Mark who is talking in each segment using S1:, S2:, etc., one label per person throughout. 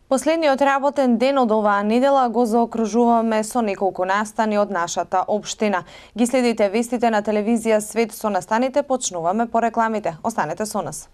S1: Последниот работен ден од оваа недела го заокружуваме со неколку настани од нашата општина. Ги следите вестите на телевизија Свет со настаните, почнуваме по рекламите. Останете со нас.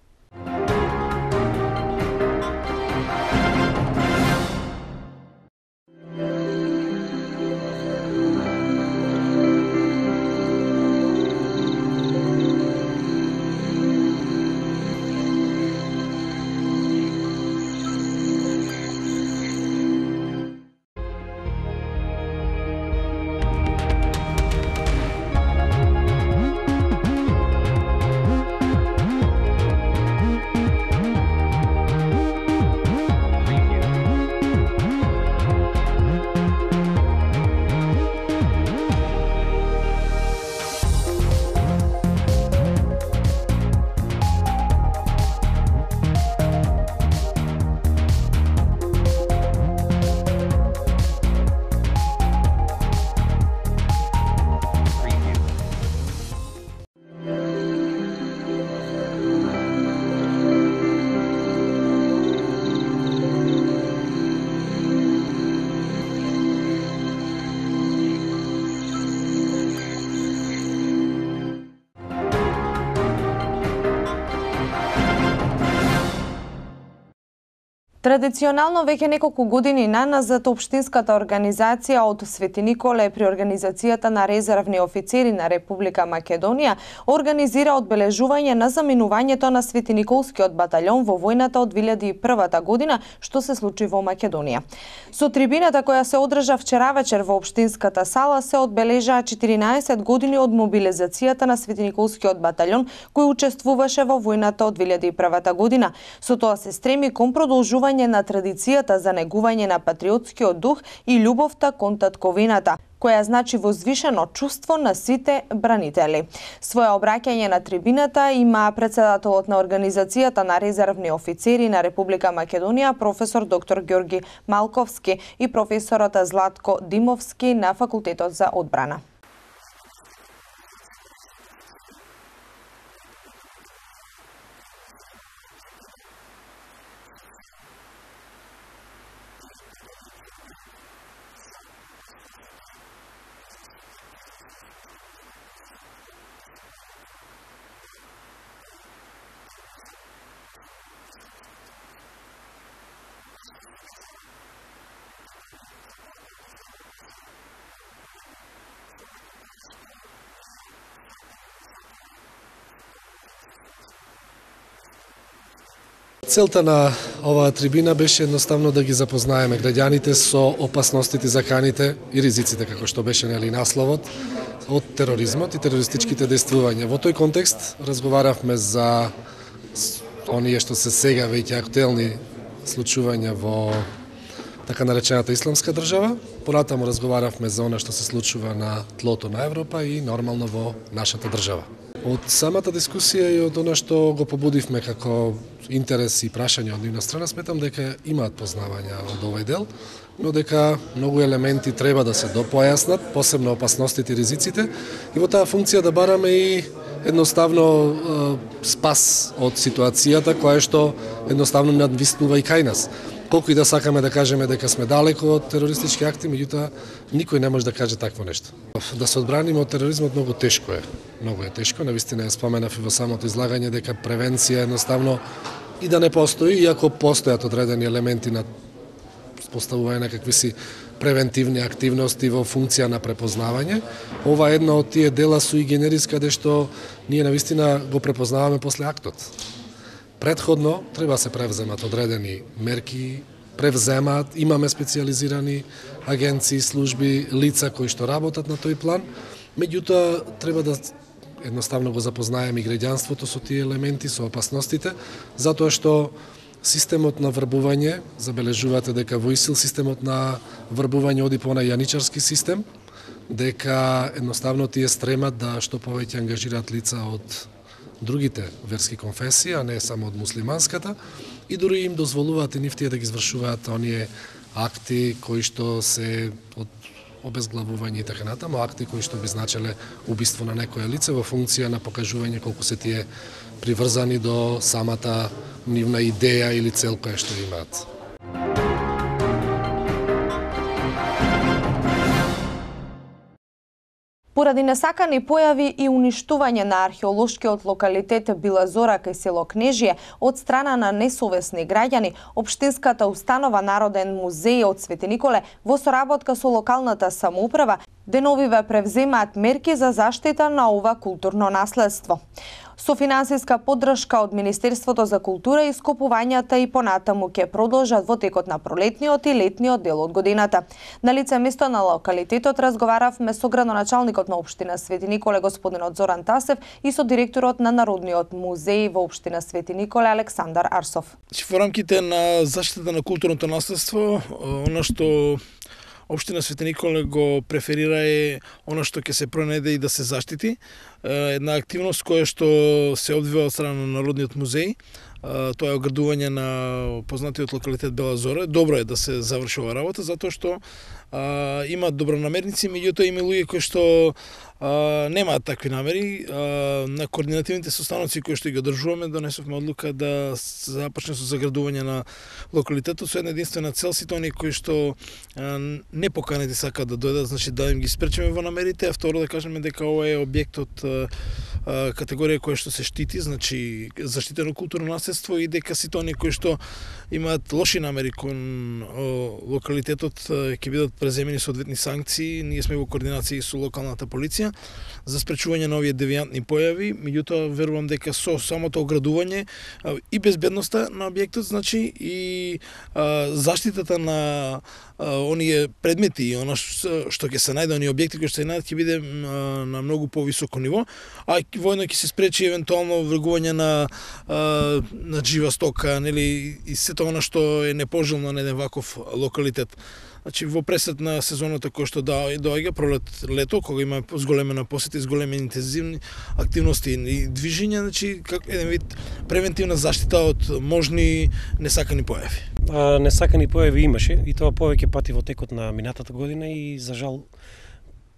S1: Традиционално веќе неколку години наназад општинската организација од Свети Николе при организацијата на резервни офицери на Република Македонија организира одбележување на заминувањето на Свети Николскиот батальон во војната од 2001 година, што се случи во Македонија. Со трибината која се одржа вчера вечер во општинската сала се одбележаа 14 години од мобилизацијата на Свети Николскиот батальон кој учествуваше во војната од 2001 година. Со тоа се стреми кон продолжување на традицијата за негување на патриотскиот дух и љубовта кон татковината, која значи возвишено чувство на сите бранители. Своја обраќање на трибината има председателот на Организацијата на резервни офицери на Република Македонија, професор доктор Ѓорги Малковски и професорот Златко Димовски на Факултетот за одбрана.
S2: Целта на оваа трибина беше едноставно да ги запознаеме граѓаните со опасностите, заканите и ризиците, како што беше насловот, од тероризмот и терористичките действувања. Во тој контекст разговаравме за оние што се сега веќе актуелни случувања во така наречената исламска држава. Понатаму разговаравме за она што се случува на тлото на Европа и нормално во нашата држава. Од самата дискусија и од она што го побудивме како интерес и прашање од нивна страна, сметам дека имаат познавања од овој дел, но дека многу елементи треба да се допојаснат, посебно опасностите и ризиците, и во таа функција да бараме и едноставно спас од ситуацијата која што едноставно надвиснува и кај нас. Колку и да сакаме да кажеме дека сме далеко од терористички акти, меѓутоа никој не може да каже такво нешто. Да се одбраниме од тероризмот многу тешко е. Многу е тешко, навистина ја споменав и во самото излагање дека превенција едноставно и да не постои, иако постојат одредени елементи на поставување на какви си превентивни активности во функција на препознавање. Ова е една од тие дела суи генерис каде што ние навистина го препознаваме после актот. Предходно треба се превземат одредени мерки, имаме специјализирани агенции, служби, лица кои што работат на тој план, меѓутоа треба да едноставно го запознаеме и граѓанството со тие елементи, со опасностите, затоа што системот на врбување, забележувате дека во ИСИЛ системот на врбување оди по онај јаничарски систем, дека едноставно тие стремат да што повеќе ангажираат лица од другите верски конфесии, а не само од муслиманската, и дури им дозволуваат и нив тие да ги извршуваат оние акти кои што се од обезглавување и така натаму, акти кои што би значеле убиство на некое лице во функција на покажување колку се тие приврзани до самата нивна идеја или цел која што имаат.
S1: Поради несакани појави и уништување на археолошкиот локалитет Била Зора кај село Кнежие од страна на несовесни граѓани, општинската установа Народен музеј од Свети Николе во соработка со локалната самоуправа деновиве превземаат мерки за заштита на ова културно наследство. Со финансиска поддршка од Министерството за култура и ископувањата и понатаму ќе продолжат во текот на пролетниот и летниот дел од годината. На лице место на локалитетот разговаравме со градоначалникот на општина Свети Николе господинот Зоран Тасев и со директорот на Народниот музеј во општина Свети Николе Александар Арсов.
S3: Во рамките на заштита на културното наследство, она што Општина Свети Николе го преферира е она што ќе се пронајде и да се заштити. Една активност која што се одвива од страна на Народниот музеј. Тоа е оградување на познатиот локалитет Бела Зора. Добро е да се заврши оваа работа, затоа што имаат добронамерници, меѓутоа има луѓе кои што немаат такви намери. На координативните состаноци кои што ги одржуваме, донесовме одлука да се започне со заградување на локалитетот со една единствена цел, сите оние кои што не поканети сакаат да дојдат, значи да им ги спречиме во намерите, а второ да кажеме дека ова е објект од категорија која што се штити, значи заштитено културно наследство, и дека сите оние кои што имаат лоши намери кон локалитетот ќе бидат преземени соодветни санкции. Ние сме во координација со локалната полиција за спречување на овие девијантни појави, меѓутоа верувам дека со самото оградување и безбедноста на објектот, значи и заштитата на оние предмети и она што ќе се најде, оние објекти кои што се најдат, ќе биде на многу повисоко ниво, а воедно ќе се спречи евентуално вргување на жива стока, нели, и сето она што е непожелно на еден ваков локалитет. Значи во пресет на сезоната која што доаѓа пролет лето, кога има зголемена посета и зголемени интензивни активности и движење, значи како еден вид превентивна заштита од можни несакани појави.
S4: Несакани појави имаше, и тоа повеќе пати во текот на минатата година, и за жал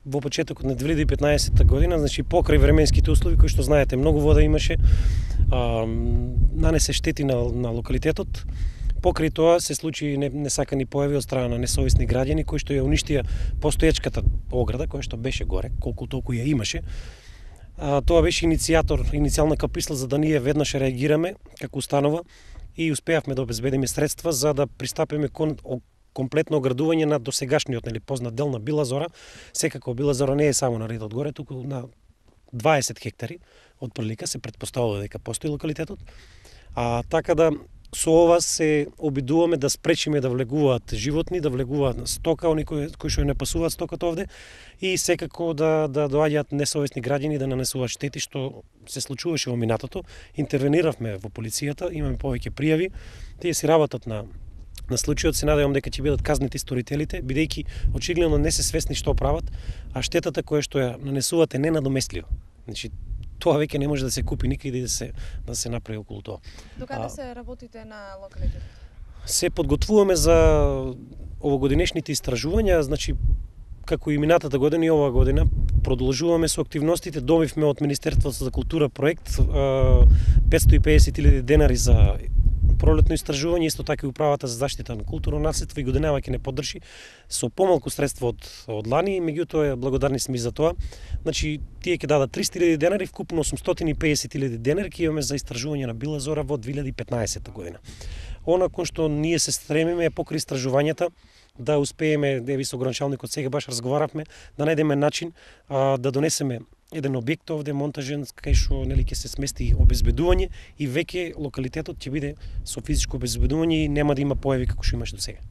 S4: во почетокот на 2015 година, значи покрај временските услови кои што знаете, многу вода имаше, нанесе штети на локалитетот. Покрај тоа се случи несакани појави од страна на несовесни граѓани кои што ја уништија постоечката ограда која што беше горе, колку толку ја имаше. Тоа беше иницијална каписла за да ние веднаш реагираме како установа и успеавме да обезбедиме средства за да пристапиме кон комплетно оградување на досегашниот, нели, познат дел на Била Зора. Секако Била Зора не е само на редот горе, туку на 20 хектари од прилика се претпоставува дека постои локалитетот. Така да со ова се обидуваме да спречиме да влегуваат животни, да влегуваат стока, они кои што не пасуваат стоката овде, и секако да доаѓаат несовесни граѓани да нанесуваат штети, што се случуваше во минатото. Интервениравме во полицијата, имаме повеќе пријави, тие си работат на случајот. Се надевам дека ќе бидат казнети сторителите, бидејќи очигледно не се свесни што прават, а штетата која што ја нанесуваат е ненадоместлива. Значи тоа веќе не може да се купи никаде да се направи околу тоа.
S1: Докаде се работите на локалитетот?
S4: Се подготвуваме за овогодинешните истражувања, значи како и минатата година и оваа година продолжуваме со активностите. Добивме од Министерството за култура проект 550.000 денари за пролетно истражување, исто така и управата за заштита на културно наследство и годинава ќе не поддржи со помалку средства од лани, меѓутоа благодарни сме и за тоа. Значи тие ќе дадат 300.000 денари, вкупно 850.000 денари ќе имаме за истражување на Била Зора во 2015 година. Она кон што ние се стремиме е покрај истражувањата да успееме, деви со гранчалникот сега баш разговаравме, да најдеме начин да донесеме еден објект овде монтажен кај што, нели, ќе се смести обезбедување и веќе локалитетот ќе биде со физичко обезбедување и нема да има појави како што имаше до сега.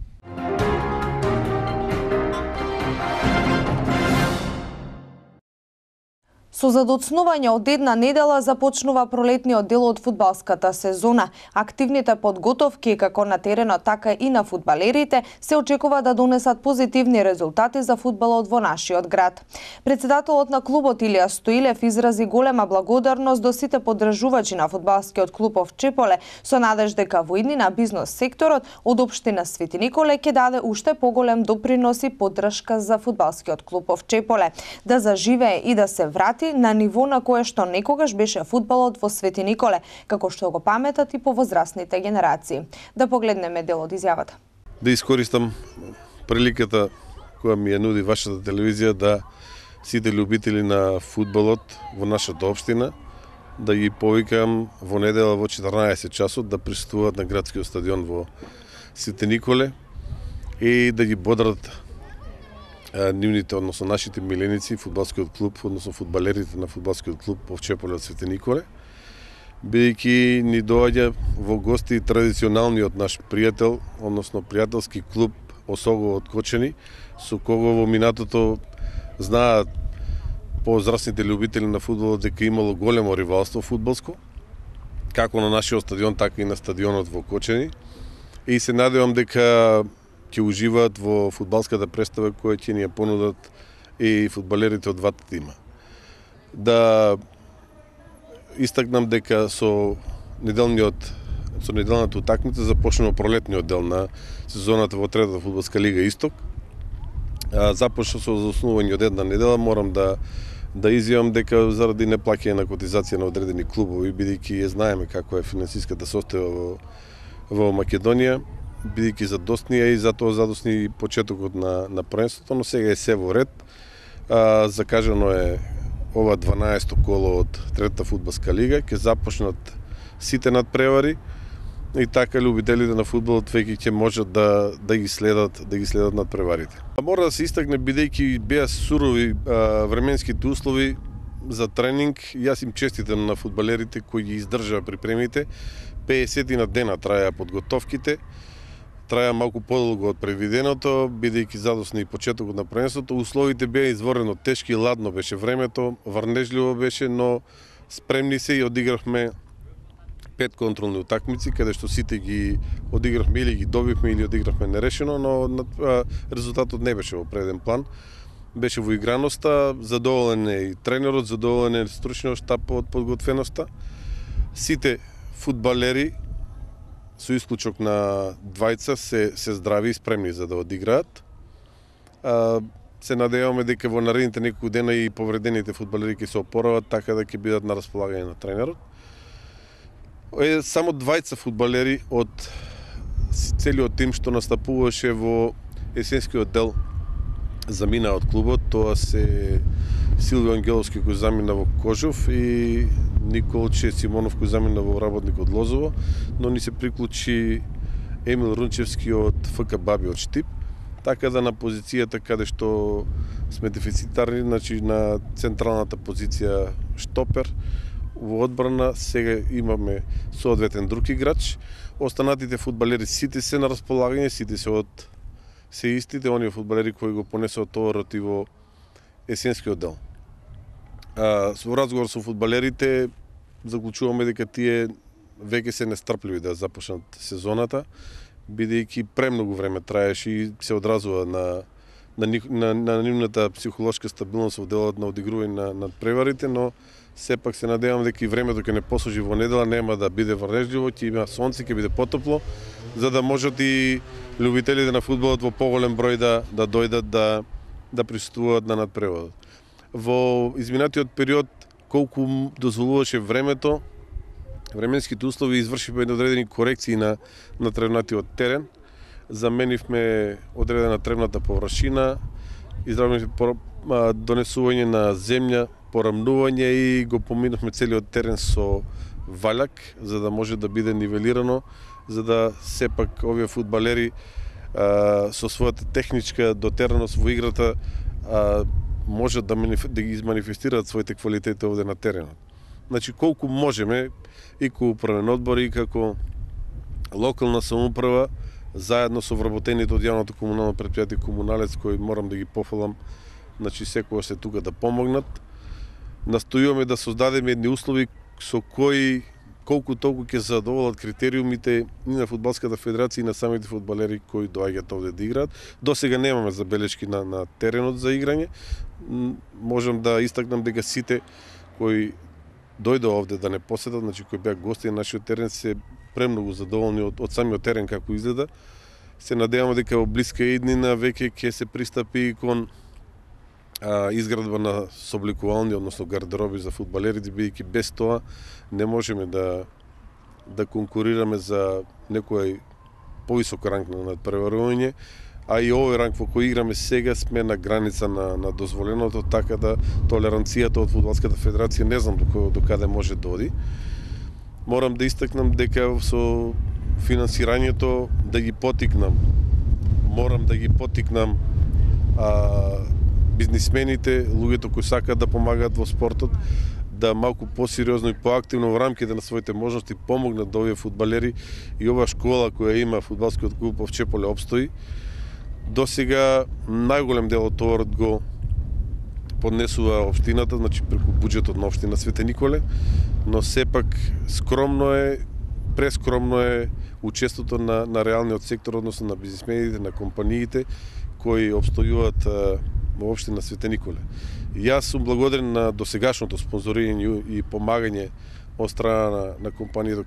S1: Со задоцнување од една недела започнува пролетниот дел од фудбалската сезона. Активните подготовки како на теренот, така и на фудбалерите се очекува да донесат позитивни резултати за фудбалот во нашиот град. Председателот на клубот Илија Стоилев изрази голема благодарност до сите поддржувачи на фудбалскиот клуб Овчеполе со надеж дека во иднина бизнес секторот од општина Свети Николе ќе даде уште поголем допринос и поддршка за фудбалскиот клуб Овчеполе да заживее и да се врати на ниво на кое што некогаш беше фудбалот во Свети Николе, како што го паметат и повозрасните генерации. Да погледнеме дел од изјавата.
S5: Да искористам приликата која ми ја нуди вашата телевизија да сите љубители на фудбалот во нашата општина да ги повикам во недела во 14 часот да присуствуваат на градскиот стадион во Свети Николе и да ги бодрат нивните, односно нашите миленици, фудбалскиот клуб, односно фудбалерите на фудбалскиот клуб Овчеполе од Свети Николе, бидејќи ни доаѓа во гости традиционалниот наш пријател, односно пријателски клуб Осого од Кочани, со кого во минатото знаат позрасните љубители на фудбалот дека имало големо ривалство фудбалско, како на нашиот стадион, така и на стадионот во Кочани. И се надевам дека ќе уживаат во фудбалската представа која ќе ни ја понудат и фудбалерите од двата тима. Да истакнам дека со неделната утакмица започнува пролетниот дел на сезоната во третата фудбалска лига Исток. Започна со заснување од една недела, морам да изјавам дека заради неплаќање на котизација на одредени клубови, бидејќи ја знаеме како е финансиската состојба во Македонија, бидејќи задоснија и затоа задосни почетокот на првенството, но сега е се во ред. Закажано е ова 12-то коло од третата фудбалска лига, ќе започнат сите надпревари и така љубителите на фудбалот веќе ќе можат да ги следат надпреварите. Мора да се истакне бидејќи беа сурови временските услови за тренинг, јас им честитам на фудбалерите кои ги издржаа припремите. 50 на дена траја подготовките, траја малку подолго од предвиденото, бидејќи задосни и почетокот на првенството. Условите беа изворено тешки, ладно беше времето, врнежливо беше, но спремни се и одигравме 5 контролни утакмици, каде што сите ги одигравме или ги добивме или одигравме нерешено, но резултатот не беше во преден план. Беше во играноста, задоволен е и тренерот, задоволен е стручниот штаб од подготвеноста. Сите фудбалери, со исклучок на двајца, се здрави и спремни за да одиграат. Се надеваме дека во наредните неколку дена и повредените фудбалери ќе се опорават, така да ќе бидат на располагање на тренерот. Само двајца фудбалери од целиот тим што настапуваше во есенскиот дел замина од клубот, тоа се Силвио Ангеловски кој замина во Кожов и Николче Симонов кој замина во Работник од Лозово, но ни се приклучи Емил Рунчевски од ФК Баби од Штип, така да на позицијата каде што сме дефицитарни, значи на централната позиција штопер, во одбрана сега имаме соодветен друг играч. Останатите фудбалери сите се на располагање, сите се истите оние фудбалери кои го понесоа товарот и во есенскиот дел. Во разговор со фудбалерите заклучуваме дека тие веќе се нестрпливи да започнат сезоната, бидејќи премногу време траеше и се одразува на нивната психолошка стабилност во делот на одигрување на преварите, но сепак се надевам дека и времето ќе не послужи во недела, нема да биде врнежливо, ќе има сонце, ќе биде потопло, за да можат и љубителите на фудбалот во поголем број да дојдат да присуствуваат на надпреварот. Во изминатиот период, колку дозволуваше времето, временските услови, извршивме одредени корекции на тревнатиот терен, заменивме одредена тревната површина, изравнивме донесување на земја, порамнување и го поминавме целиот терен со ваљак, за да може да биде нивелирано, за да сепак овие фудбалери со својата техничка дотераност во играта можат да ги изманифестираат своите квалитети овде на теренот. Значи, колку можеме, и како управен одбор, и како локална самоуправа, заедно со вработените од јавното комунално претпријатие Комуналец, кои морам да ги пофалам, значи секогаш се тука да помогнат. Настојуваме да создадеме едни услови со кои колку толку ќе задоволат критериумите и на Фудбалската федерација и на самите фудбалери кои доаѓаат овде да играат. До сега немаме забелешки на теренот за играње. Можам да истакнам дека сите кои дојде овде да не посетат, значи кои беа гости на нашиот терен, се премногу задоволни од самиот терен како изгледа. Се надеваме дека во блиска иднина веќе ќе се пристапи кон изградба на собликувални, односно гардероби за фудбалерите, бидејќи без тоа не можеме да конкурираме за некој повисок ранг на надпреварување, а и овој ранг во кој играме сега сме на граница на дозволеното, така да толеранцијата од Фудбалската федерација не знам до каде може да оди. Морам да истакнам дека со финансирањето да ги потикнам. Морам да ги потикнам бизнисмените, луѓето кои сакаат да помагаат во спортот, да малку посериозно и поактивно во рамките на своите можности помогнат да овие фудбалери и оваа школа која има фудбалскиот клуб во Чеполе обстои. До сега најголем дел од товарот го поднесува општината, значи преку буџетот на општина Свети Николе, но сепак прескромно е учеството на реалниот сектор, односно на бизнисмените, на компаниите кои обстојуваат во општина Свети Николе. Јас сум благодарен на досегашното спонзорирање и помагање од страна на компанијата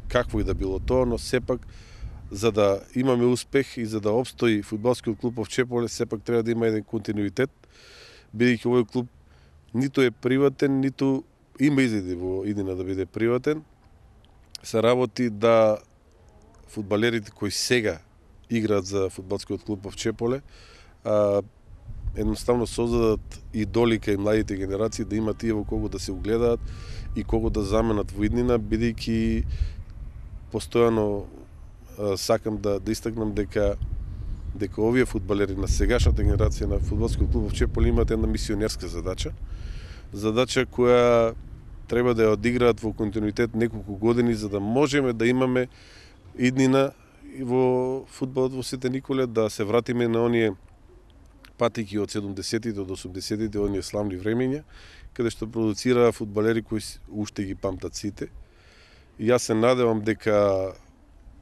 S5: какво и да било тоа, но сепак за да имаме успех и за да обстои фудбалскиот клуб во Чеполе, сепак треба да има еден континуитет, бидејќи овој клуб ниту е приватен, ниту има изгледи во иднина да биде приватен. Се работи да фудбалерите кои сега играат за фудбалскиот клуб во Чеполе, едноставно создадат идоли кај младите генерации, да имат тие во кого да се угледаат и кого да заменат во иднина, бидејќи постојано сакам да истакнам дека овие фудбалери на сегашната генерација на фудбалскиот клуб во Чеполе имаат една мисионерска задача која треба да ја одиграат во континуитет неколку години, за да можеме да имаме иднина во фудбалот во Свети Николе, да се вратиме на оние патеки од 70-тите до 80-тите, оние славни времења, каде што продуцираа фудбалери кои уште ги памтат сите. И јас се надевам дека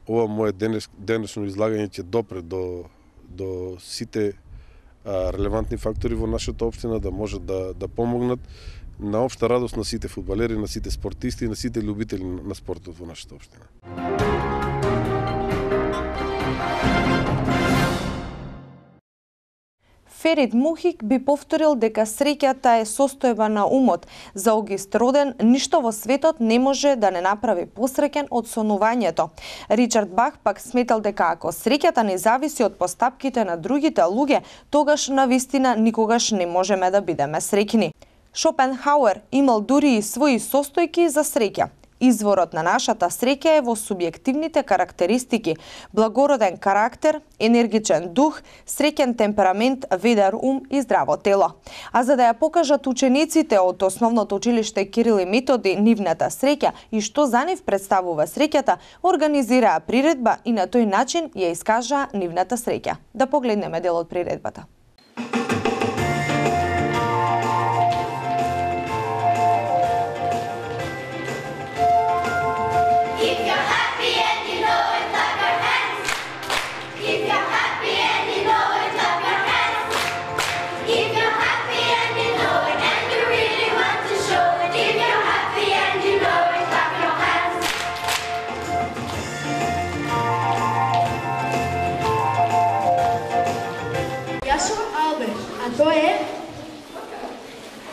S5: ова мое денешно излагање ќе допре до сите релевантни фактори во нашата општина, да можат да помогнат на општа радост на сите фудбалери, на сите спортисти и на сите љубители на спортот во нашата општина.
S1: Ферид Мухик би повторил дека среќата е состојба на умот. За Огист Роден, ништо во светот не може да не направи посреќен од сонувањето. Ричард Бах пак сметал дека ако среќата не зависи од постапките на другите луѓе, тогаш навистина никогаш не можеме да бидеме среќни. Шопенхауер имал дури и своји состојки за среќа. Изворот на нашата среќа е во субјективните карактеристики: благороден карактер, енергичен дух, среќен темперамент, ведар ум и здраво тело. А за да ја покажат учениците од Основното училиште Кирил и Методи нивната среќа и што за нив представува среќата, организираа приредба и на тој начин ја искажаа нивната среќа. Да погледнеме дел од приредбата.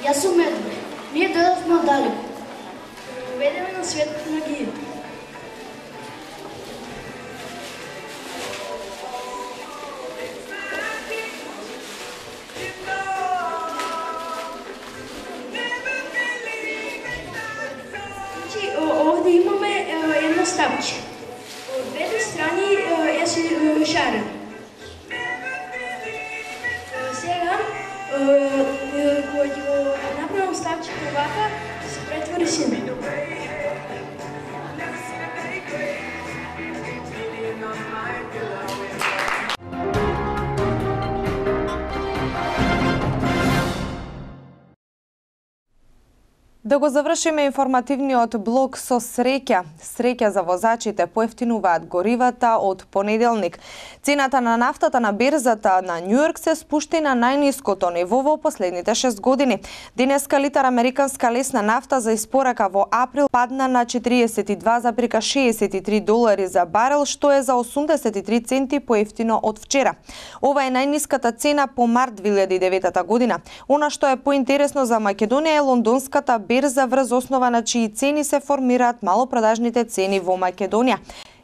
S6: Јас сум Медвед. Ние дојдовме оддалеку. Ведеме на светот на гија. Значи, овде имаме едно стапче. Од двете страни е шарен. Сега, кога ќе го направам стапчето вака, се претвори сине.
S1: Да го завршиме информативниот блок со среќа. Среќа за возачите, поевтинуваат горивата од понеделник. Цената на нафтата на берзата на Њујорк се спушти на најниското ниво во последните 6 години. Денеска литар американска лесна нафта за испорака во април падна на $42,63 за барел, што е за 83 центи поевтино од вчера. Ова е најниската цена по март 2009 година. Она што е поинтересно за Македонија е лондонската берза врз основа на чии цени се формираат малопродажните цени во Македонија.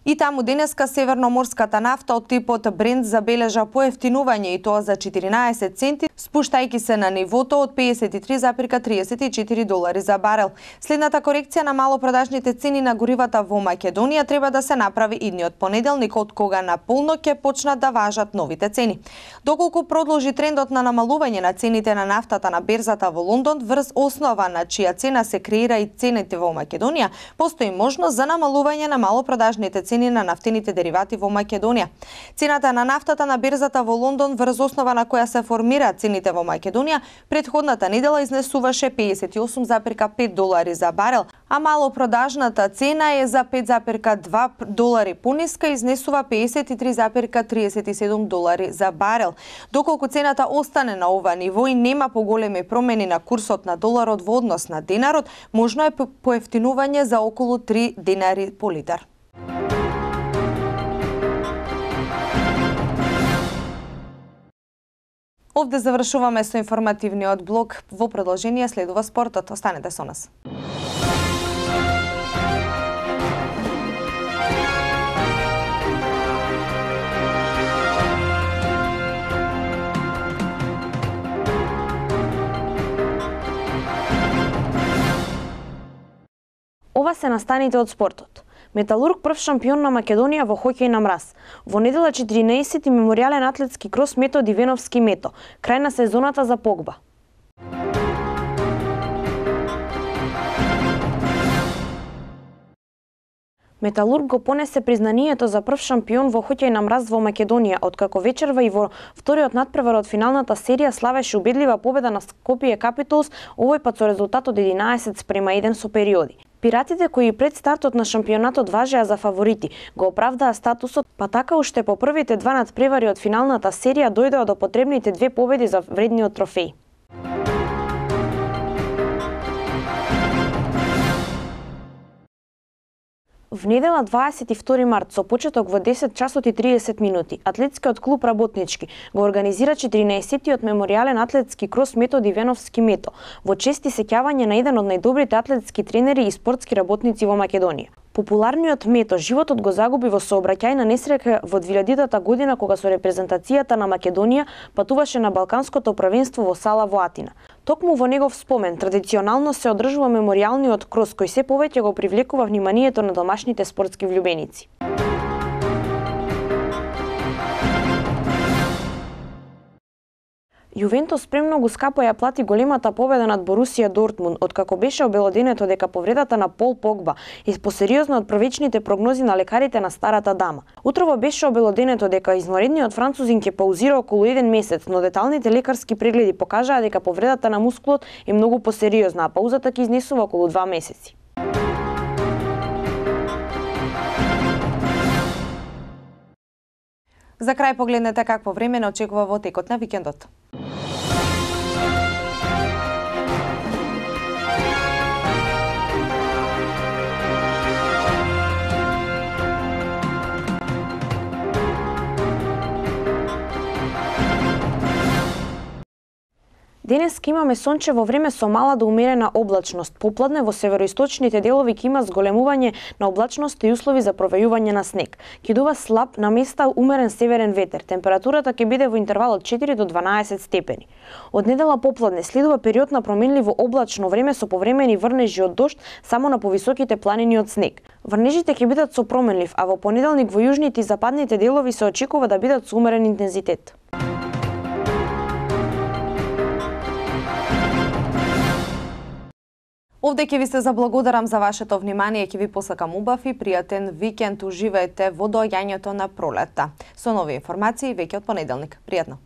S1: И таму денеска северноморската нафта од типот Брент забележа поевтинување и тоа за 14 центи, спуштајќи се на нивото од 53,34 долари за барел. Следната корекција на малопродажните цени на горивата во Македонија треба да се направи идниот понеделник, од кога наполно ќе почнат да важат новите цени. Доколку продолжи трендот на намалување на цените на нафтата на берзата во Лондон, врз основа на чија цена се креира и цените во Македонија, постои можност за намалување на малопродажните цени на нафтените деривати во Македонија. Цената на нафтата на берзата во Лондон, врз основа на која се формираат цените во Македонија, претходната недела изнесуваше 58,5 долари за барел, а малопродажната цена е за 5,2 долари пониска, изнесува 53,37 долари за барел. Доколку цената остане на ова ниво и нема поголеми промени на курсот на доларот во однос на динарот, можно е поевтинување за околу 3 динари по литар. Овде завршуваме со информативниот блок. Во продолжение следува спортот. Останете со нас.
S7: Ова се настаните од спортот. Металург прв шампион на Македонија во хоќеј на мраз. Во недела 14 меморијален атлетски крос Мето Дивеновски Мето. Крај на сезоната за Погба. Металург го понесе признанието за прв шампион во хоќеј на мраз во Македонија, откако вечерва и во вториот натпревар од финалната серија славеше убедлива победа на Скопје Капиталс, овој пат со резултат од 11:1 со периоди. Пиратите, кои пред стартот на шампионатот важеа за фаворити, го оправдаа статусот, па така уште по првите два натпревари од финалната серија дојдоа до потребните 2 победи за вредниот трофеј. В недела 22 март со почеток во 10 часот и 30 минути, атлетскиот клуб Работнички го организира 14-тиот меморијален атлетски крос Мето Дивеновски Мето во чест и сеќавање на еден од најдобрите атлетски тренери и спортски работници во Македонија. Популарниот Мето животот го загуби во сообраќајна несреќа во 2000 година, кога со репрезентацијата на Македонија патуваше на Балканското првенство во Сала во Атина. Токму во негов спомен традиционално се одржува меморијалниот крос, кој се повеќе го привлекува вниманието на домашните спортски влюбеници. Јувентус премногу скапо ја плати големата победа над Борусија Дортмунд, откако беше обелоденето дека повредата на Пол Погба е посериозна од првичните прогнози на лекарите на старата дама. Утрово беше обелоденето дека извонредниот французин ќе паузира околу 1 месец, но деталните лекарски прегледи покажаа дека повредата на мускулот е многу посериозна, а паузата ќе изнесува околу 2 месеци.
S1: За крај погледнете какво време не очекува во текот на викендот.
S7: Денес имаме сончево време со мала до умерена облачност. Попладне во североисточните делови ќе има зголемување на облачност и услови за провејување на снег. Ќе дува слаб, на места умерен северен ветер. Температурата ќе биде во интервал од 4 до 12 степени. Од недела попладне следува период на променливо облачно време со повремени врнежи од дожд само на повисоките планини од снег. Врнежите ќе бидат со променлив, а во понеделник во јужните и западните делови се очекува да бидат со умерен интензитет.
S1: Овде ќе ви се заблагодарам за вашето внимание, ќе ви посакам убав и пријатен викенд. Уживајте во доаѓањето на пролетта. Со нови информации веќе од понеделник. Пријатно!